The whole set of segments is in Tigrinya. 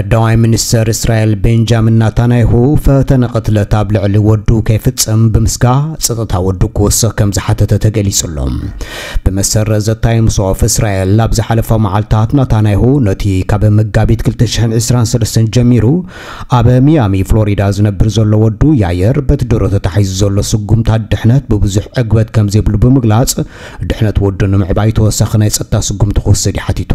ቀዳማይ ሚኒስተር እስራኤል ቤንጃሚን ናታንያሁ ፈተነ ቅትለት ኣብ ልዕሊ ወዱ ከይፍጽም ብምስጋ ጸጥታ ወዱ ክወስኽ ከም ዝሓተተ ተገሊጹ ኣሎ። ብመሰረት ዘ ታይምስ ኦፍ እስራኤል ኣብ ዝሓለፈ መዓልታት ናታንያሁ ነቲ ካብ መጋቢት ክልተ ሽሕን ዕስራን ሰለስተን ጀሚሩ ኣብ ሚያሚ ፍሎሪዳ ዝነብር ዘሎ ወዱ ያየር በቲ ድሮ ተታሒዙ ዘሎ ስጉምታት ድሕነት ብብዙሕ ዕግበት ከም ዘይብሉ ብምግላጽ ድሕነት ወዱ ንምዕባይ ተወሳኺ ናይ ጸጥታ ስጉምቲ ክወስድ እዩ ሓቲቱ።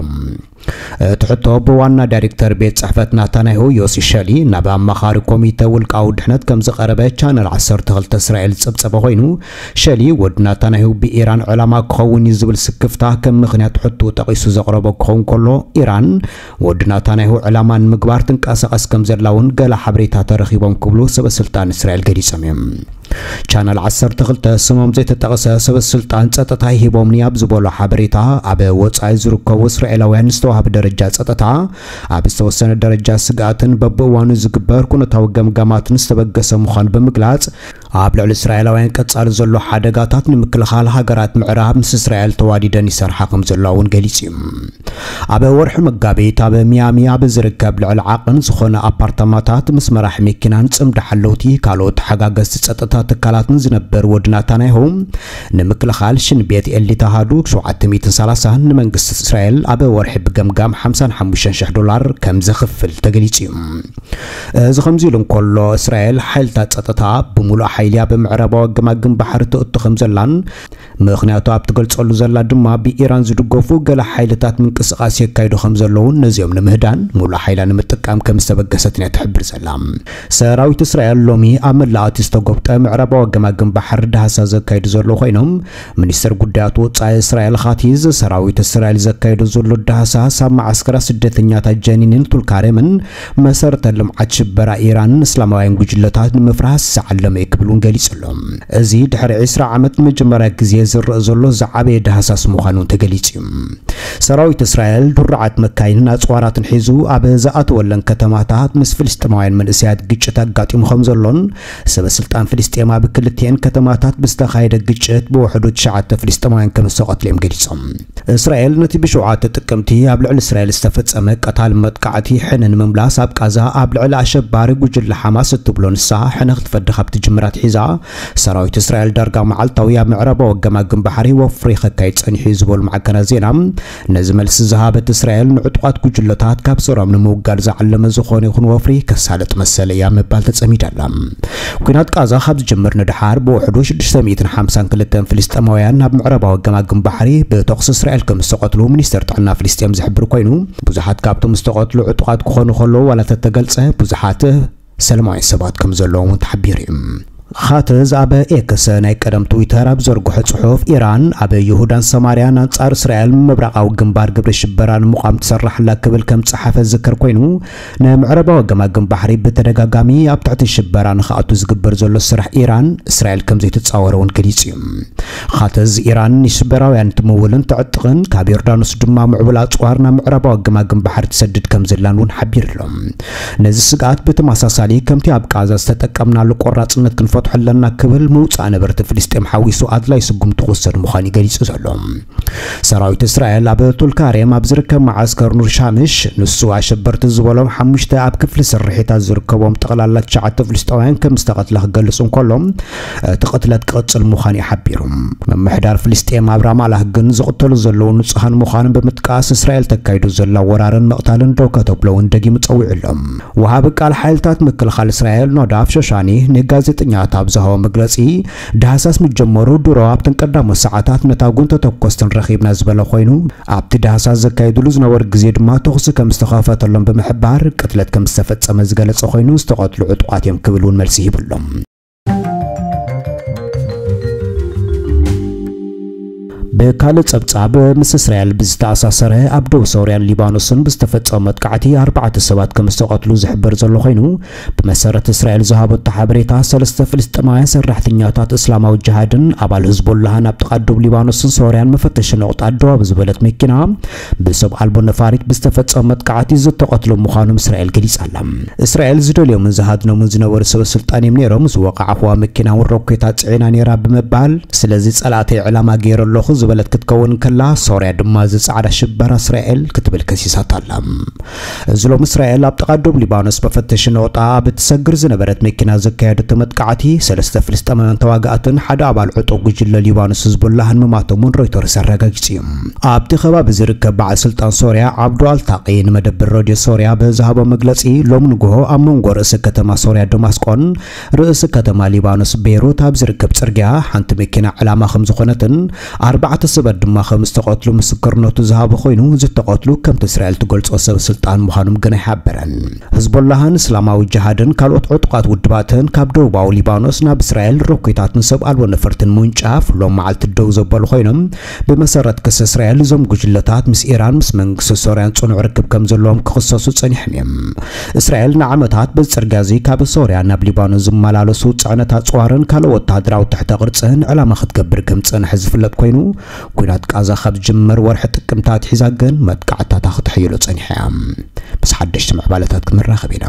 እቲ ሕቶ ብዋና ዳይሬክተር ቤት ጽሕፈት ናታንያሁ ዮሲ ሸሊ ናብ ኣማኻሪ ኮሚተ ውልቃዊ ድሕነት ከም ዝቐረበ ቻነል ዓሰርተ ክልተ እስራኤል ዝጸብጸበ ኮይኑ፣ ሸሊ ወዲ ናታንያሁ ብኢራን ዕላማ ክኸውን እዩ ዝብል ስክፍታ ከም ምኽንያት ሕቶ ጠቒሱ ዘቕረቦ ክኸውን ከሎ፣ ኢራን ወዲ ናታንያሁ ዕላማ ንምግባር ትንቀሳቐስ ከም ዘላ እውን ገለ ሓበሬታ ተረኺቦም ክብሉ ሰበ ስልጣን እስራኤል ገሊጾም እዮም። ቻነል ዓሰርተ ክልተ ስሞም ዘይተጠቕሰ ሰበ ስልጣን ጸጥታ ሂቦምኒ ኣብ ዝበሎ ሓበሬታ፣ ኣብ ወጻኢ ዝርከቡ እስራኤላውያን ዝተዋህበ ደረጃ ጸጥታ ኣብ ዝተወሰነ ደረጃ ስግኣትን በብእዋኑ ዝግበር ኩነታዊ ገምጋማትን ዝተበገሰ ምዃኑ ብምግላጽ፣ ኣብ ልዕሊ እስራኤላውያን ቀጻሊ ዘሎ ሓደጋታት ንምክልኻል ሃገራት ምዕራብ ምስ እስራኤል ተዋዲደን ይሰርሓ ከም ዘለዋ እውን ገሊጹ እዩ። ኣብ ወርሒ መጋቢት ኣብ ሚያሚ ኣብ ዝርከብ ልዕሊ ዓቐን ዝኾነ ኣፓርታማታት ምስ መራሕ መኪናን ጽምዲ ሓለውቲ ካልኦት ተሓጋገዝቲ ጸጥታ ትካላትን ዝነበር ወዲ ናታንያሁ ንምክልኻል ሽን ቤት ኤል ተሃዱ ሸውዓተ ሚእትን ሰላሳን ንመንግስቲ እስራኤል ኣብ ወርሒ ብገምጋም ሓምሳን ሓሙሽተን ሽሕ ዶላር ከም ዘኽፍል ተገሊጹ እዩ። እዚ ከምዚ ኢሉ እንከሎ፣ እስራኤል ሓይልታት ጸጥታ ብምሉእ ሓይሊ ኣብ ምዕራባዊ ገማግም ባሕሪ ትእቱ ከም ዘላን ምኽንያቱ ኣብ ትገልጸሉ ዘላ ድማ ብኢራን ዝድገፉ ገለ ሓይልታት ምንቅስቓስ የካይዱ ከም ዘለውን ነዚኦም ንምህዳን ሙሉእ ሓይላ ንምጥቃም ከም ዝተበገሰትን እያ ትሕብር ዘላ። ሰራዊት እስራኤል ሎሚ ኣብ መላእ እቲ ዝተጎብጠ ምዕራባዊ ገማግም ባሕሪ ዳህሳ ዘካይዱ ዘለዉ ኮይኖም፣ ሚኒስትር ጉዳያት ወጻኢ እስራኤል ካቲዝ ሰራዊት እስራኤል ዘካይዱ ዘሎ ዳህሳስ ኣብ መዓስከራት ስደተኛታት ጀኒንን ቱልካሬምን መሰረተ ልምዓት ሽበራ ኢራንን እስላማውያን ጉጅለታት ንምፍራስ ዝዓለመ እዩ ክብል እውን ገሊጹ ኣሎ። እዚ ድሕሪ ዕስራ ዓመት ንመጀመርያ ግዜ ዝረአ ዘሎ ዝዓበየ ዳህሳስ ምዃኑ ተገሊጹ እዩ። ሰራዊት እስራኤል ድሩዓት መካይንን ኣጽዋራትን ሒዙ ኣብ ዝኣተወለን ከተማታት ምስ ፍልስጤማውያን መንእሰያት ግጭት ኣጋጢሙ ከም ዘሎን ሰበ ስልጣን ፍልስጤም ኣብ ክልቲኤን ከተማታት ብዝተኻየደ ግጭት ብውሕዱ ትሽዓተ ፍልስጤማውያን ከም ዝተቐትሉ እዮም ገሊጾም። እስራኤል ነቲ ብሸውዓተ ጥቅምቲ ኣብ ልዕሊ እስራኤል ዝተፈጸመ ቀታል መጥቃዕቲ ሕነ ንምምላስ ኣብ ቃዛ ኣብ ልዕሊ ኣሸባሪ ጉጅለ ሓማስ እትብሎ ንሳ ሕነ ክትፈዲ ካብ ትጅምር ኣትሒዛ ሰራዊት እስራኤል ዳርጋ መዓልታዊ ኣብ ምዕራባዊ ገማግም ባሕሪ ወፍሪ ከካይድ ጸኒሑ እዩ ዝበሉ ማዕከናት ዜና፣ ነዚ መልሲ ዝሃበት እስራኤል ንዕጡቓት ጉጅለታት ካብ ስሮም ንምውጋድ ዝዓለመ ዝኾነ ይኹን ወፍሪ ከሳልጥ መሰል እያ ምባል ተጸሚዳ ኣላ። ኲናት ቃዛ ካብ ዝጅምር ንደሓር ብውሕዱ ሽዱሽተ ሚእትን ሓምሳን ክልተን ፍልስጤማውያን ናብ ምዕራባዊ ገማግም ባሕሪ ብተኹሲ እስራኤል ከም ዝተቐትሉ ሚኒስተር ጥዕና ፍልስጤም ዝሕብር ኮይኑ፣ ብዙሓት ካብቶም ዝተቐትሉ ዕጡቓት ክኾኑ ከለዉ ዋላ ተተገልጸ ብዙሓት ሰላማውያን ሰባት ከም ዘለዎም እውን ተሓቢሩ እዩ። ኻትዝ ኣብ ኤክስ ናይ ቀደም ትዊተር ኣብ ዘርግሖ ጽሑፍ፣ ኢራን ኣብ ይሁዳን ሰማርያን ኣንጻር እስራኤል ምብራቓዊ ግንባር ግብሪ ሽበራ ንምቋም ትሰርሕ ኣላ ክብል ከም ጸሓፈ ዝዝከር ኮይኑ፣ ንምዕራባዊ ገማግም ባሕሪ ብተደጋጋሚ ኣብ ትሕቲ ሽበራ ንኽኣቱ ዝግበር ዘሎ ስራሕ ኢራን እስራኤል ከም ዘይትጻወሮ እውን ገሊጹ እዩ። ኻትዝ ኢራን ንሽበራውያን ትምውልን ተዕጥቕን ካብ ዮርዳኖስ ድማ ምዕቡል ኣጽዋር ናብ ምዕራባዊ ገማግም ባሕሪ ትሰድድ ከም ዘላን እውን ሓቢሩ ኣሎ። ነዚ ስግኣት ብተመሳሳሊ ከምቲ ኣብ ቃዛ ዝተጠቀምናሉ ቆራጽነት ክንፈትሖ ኣለና ክብል ምውጻእ ነበርቲ ፍልስጤም ሓዊሱ ኣድላይ ስጉምቲ ክውሰድ ምዃኑ እዩ ገሊጹ ዘሎ። ሰራዊት እስራኤል ኣብ ቱልካሬም ኣብ ዝርከብ መዓስከር ኑር ሻምሽ ንሱ ኣሸበርቲ ዝበሎም ሓሙሽተ ኣብ ክፍሊ ስርሒታት ዝርከቦም ጠቕላላ ትሽዓተ ፍልስጤማውያን ከም ዝተቐትለ ክገልጽ እንከሎ፣ እቲ ቅትለት ክቕጽል ምዃኑ እዩ ሓቢሩ። ምምሕዳር ፍልስጤም ኣብ ራማላህ ግን ዝቕተሉ ዘለዉ ንጹሃን ምዃኖም ብምጥቃስ እስራኤል ተካይዶ ዘላ ወራርን ምቕታልን ደው ከተብሎ እውን ደጊሙ ጸዊዑ ኣሎ። ወሃቢ ቃል ሓይልታት ምክልኻል እስራኤል ኖዳፍ ሾሻኒ ንጋዜጠኛታት ኣብ ዝሃቦ መግለጺ፣ ዳህሳስ ምጀመሩ ድሮ ኣብተን ቀዳሞት ሰዓታት ነታ ጉንተ ተኮስትን ረኺብና ዝበለ ኮይኑ፣ ኣብቲ ዳህሳስ ዘካየድሉ ዝነበሩ ግዜ ድማ ተኹሲ ከም ዝተኸፈተሎም ብምሕባር፣ ቅትለት ከም ዝተፈጸመ ዝገለጸ ኮይኑ፣ ዝተቐትሉ ዕጡቓት እዮም ክብል እውን መልሲ ሂቡ ኣሎ። ብካልእ ጸብጻብ፣ ምስ እስራኤል ብዝተኣሳሰረ ኣብ ደቡብ ሶርያን ሊባኖስን ብዝተፈጸመ መጥቃዕቲ ኣርባዕተ ሰባት ከም ዝተቐትሉ ዝሕበር ዘሎ ኮይኑ፣ ብመሰረት እስራኤል ዝሃበቶ ሓበሬታ፣ ሰለስተ ፍልስጤማውያን ሰራሕተኛታት እስላማዊ ጅሃድን ኣባል ህዝቦላህን ኣብ ጥቓ ደቡብ ሊባኖስን ሶርያን መፈተሺ ነቑጣ ደው ኣብ ዝበለት መኪና ብሰብ ኣልቦ ነፋሪት ብዝተፈጸመ መጥቃዕቲ ዝተቐትሉ ምዃኖም እስራኤል ገሊጻ ኣላ። እስራኤል ዝደልዮምን ዝሃድኖምን ዝነበሩ ሰበ ስልጣን እዮም ነይሮም ዝወቓዕኹዋ መኪና እውን ሮኬታት ጽዒና ነይራ ብምባል፣ ስለዚ ጸላእተይ ዕላማ ገይረ ኣለኹ ዝበለት ክትከውን ከላ፣ ሶርያ ድማ እዚ ጻዕዳ ሽበራ እስራኤል ክትብል ከሲሳታ ኣላ። እዚ ሎም እስራኤል ኣብ ጥቓ ዶብ ሊባኖስ መፈተሺ ነቑጣ ኣብ እትሰግር ዝነበረት መኪና ዘካየደቶ መጥቃዕቲ፣ ሰለስተ ፍልስጤማውያን ተዋጋእትን ሓደ ኣባል ዕጡቕ ጉጅለ ሊባኖስ ህዝቡላህን ምማቶም እውን ሮይተርስ ኣረጋጊጹ እዩ። ኣብቲ ከባቢ ዝርከብ በዓል ስልጣን ሶርያ ዓብዱ ኣልታቂ ንመደብር ሬድዮ ሶርያ ብዝሃቦ መግለጺ፣ ሎም ንግሆ ኣብ መንጎ ርእሲ ከተማ ሶርያ ደማስቆን ርእሲ ከተማ ሊባኖስ ቤይሩት ኣብ ዝርከብ ጽርግያ ሓንቲ መኪና ዕላማ ከም ዝኾነትን ኣርባዕተ ሰባት ድማ ከም ዝተቐትሉ ምስክርነቱ ዝሃበ ኮይኑ፣ ዝተቐትሉ ከምቲ እስራኤል ትገልጾ ሰብ ስልጣን ምዃኖም ግን ኣይሓበረን። ህዝቦላህን እስላማዊ ጅሃድን ካልኦት ዕጡቓት ውድባትን ካብ ደቡባዊ ሊባኖስ ናብ እስራኤል ሮኬታትን ሰብ ኣልቦ ነፈርትን ምውንጫፍ ሎም መዓልቲ ደው ዘበሉ ኮይኖም፣ ብመሰረት ክሲ እስራኤል እዞም ጉጅለታት ምስ ኢራን ምስ መንግስቲ ሶርያን ጽኑዕ ርክብ ከም ዘለዎም ክኽሰሱ ጸኒሖም እዮም። እስራኤል ንዓመታት በዚ ጽርግያ እዚ ካብ ሶርያ ናብ ሊባኖስ ዝመላለሱ ጽዕነት ኣጽዋርን ካልእ ወተሃደራዊ ትሕተ ቅርጽን ዕላማ ክትገብር ከም ዝጸንሐ ዝፍለጥ ኮይኑ፣ ኲናት ቃዛ ካብ ዝጅመር ወርሒ ጥቅምቲ ኣትሒዛ ግን መጥቃዕታታ ክተሕይሎ ጸኒሓ እያ። ምስ ሓደሽቲ ምዕባለታት ክንራኸብ ኢና።